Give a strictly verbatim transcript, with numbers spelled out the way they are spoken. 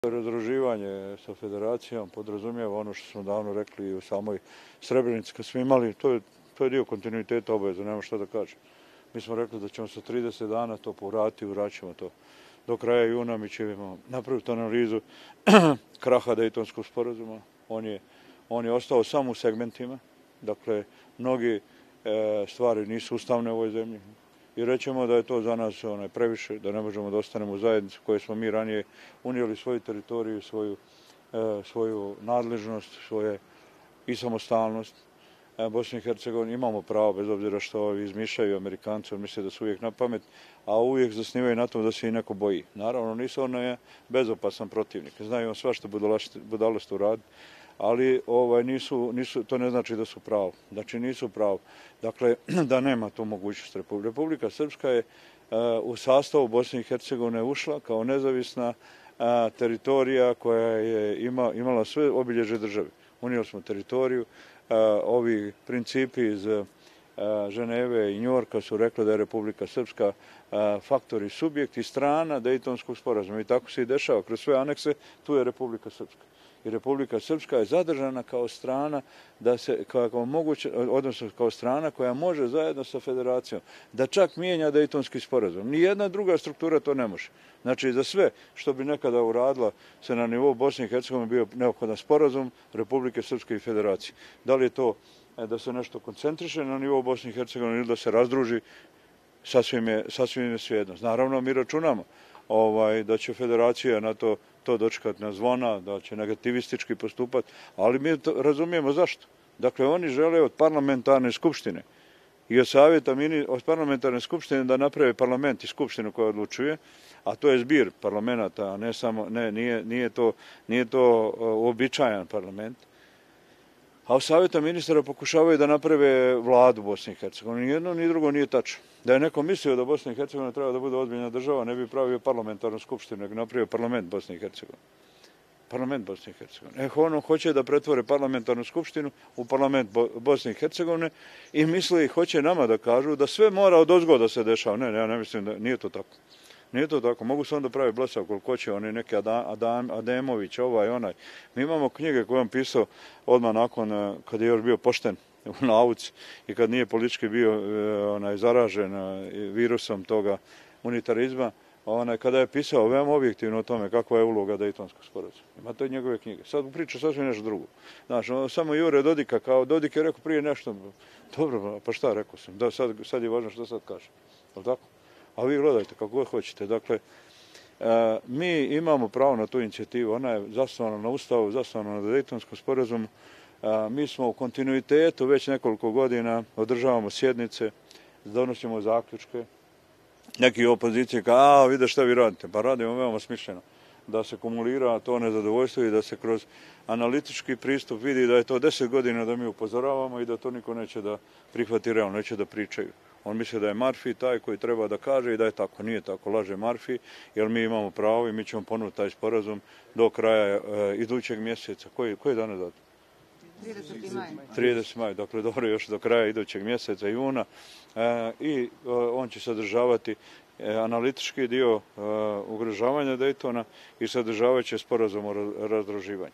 Razdruživanje sa federacijom podrazumijeva ono što smo davno rekli u samoj Srebrenici kad smo imali, to je, to je dio kontinuiteta obaveza, nema šta da kažem. Mi smo rekli da ćemo sa trideset dana to povratiti, vraćamo to. Do kraja juna mi ćemo napraviti analizu kraha Dejtonskog sporazuma. On je, on je ostao samo u segmentima, dakle, mnogi e, stvari nisu ustavne u ovoj zemlji. I rećemo da je to za nas onaj, previše, da ne možemo da ostanemo u zajednici koje smo mi ranije unijeli svoju teritoriju, svoju, e, svoju nadležnost, svoje i samostalnost. E, Bosni i Hercegovini imamo pravo, bez obzira što ovi izmišljaju Amerikanci, on misle da su uvijek na pamet, a uvijek zasnivaju na tom da se i neko boji. Naravno, nisu ono je bezopasan protivnik. Znaju on svašta budalost uraditi, ali ovaj, nisu, nisu, to ne znači da su pravo. Znači nisu pravo. Dakle, da nema tu mogućnost. Republika, Republika Srpska je uh, u sastavu Bosne i Hercegovine ušla kao nezavisna uh, teritorija koja je ima, imala sve obilježje države. Unijeli smo teritoriju. Uh, ovi principi iz uh, Ženeve i Njujorka su rekli da je Republika Srpska uh, faktor i subjekt i strana Dejtonskog sporazuma. I tako se i dešava. Kroz sve anekse tu je Republika Srpska. I Republika Srpska je zadržana kao strana da se kao moguće, odnosno kao strana koja može zajedno sa federacijom da čak mijenja Dejtonski sporazum. Nijedna druga struktura to ne može. Znači za sve što bi nekada uradila se na nivou Bosne i Hercegovine bio neophodan sporazum Republike Srpske i federacije. Da li je to da se nešto koncentriše na nivou Bosne i Hercegovine ili da se razdruži, sasvim je, sasvim je svejedno. Naravno mi računamo ovaj, da će federacija na to to dočekati na zvona, da će negativistički postupati, ali mi to razumijemo zašto. Dakle, oni žele od parlamentarne skupštine i od savjeta od parlamentarne skupštine da naprave parlament i skupštinu koja odlučuje, a to je zbir parlamenta, a ne samo, ne, nije, nije to, nije to uobičajan parlament. A u savjeta ministara pokušavaju da naprave vladu Bosne i Hercegovine. Ni jedno, ni drugo nije tačno. Da je neko mislio da Bosna i Hercegovina treba da bude ozbiljna država, ne bi pravio parlamentarnu skupštinu, nego napravio parlament Bosne i Hercegovine. Parlament Bosne i Hercegovine. E, ono hoće da pretvore parlamentarnu skupštinu u parlament Bosne i Hercegovine i misle i hoće nama da kažu da sve mora od ozgo da se dešava. Ne, ja ne mislim da nije to tako. Nije to tako. Mogu se onda pravi blesav koliko će, oni neki Adam, Ademović, ovaj, onaj. Mi imamo knjige koje on pisao odmah nakon, kad je još bio pošten u nauci i kad nije politički bio onaj, zaražen virusom toga unitarizma, onaj, kada je pisao veoma objektivno o tome kakva je uloga Dejtonskog sporazuma. Ima to i njegove knjige. Sad priča sasvim nešto drugo. Znaš, samo Jure Dodika, kao Dodik je rekao prije nešto, dobro, pa šta rekao sam, da, sad, sad je važno što sad kaže. Je li tako? A vi gledajte kako god hoćete. Dakle, e, mi imamo pravo na tu inicijativu. Ona je zasnovana na Ustavu, zasnovana na Dejtonskom sporazumu. E, mi smo u kontinuitetu već nekoliko godina, održavamo sjednice, donosimo zaključke. Neki opozicije kao, a vide šta vi radite. Pa radimo veoma smišljeno. Da se kumulira to nezadovoljstvo i da se kroz analitički pristup vidi da je to deset godina da mi upozoravamo i da to niko neće da prihvati realno, neće da pričaju. On misli da je Marfi taj koji treba da kaže i da je tako. Nije tako, laže Marfi, jer mi imamo pravo i mi ćemo ponuditi taj sporazum do kraja e, idućeg mjeseca. Koji, koji dan je dat? trideseti maj. trideseti maj, dakle dobro još do kraja idućeg mjeseca juna. E, I e, on će sadržavati e, analitički dio e, ugrožavanja Dejtona i sadržavat će sporazum o razdruživanju.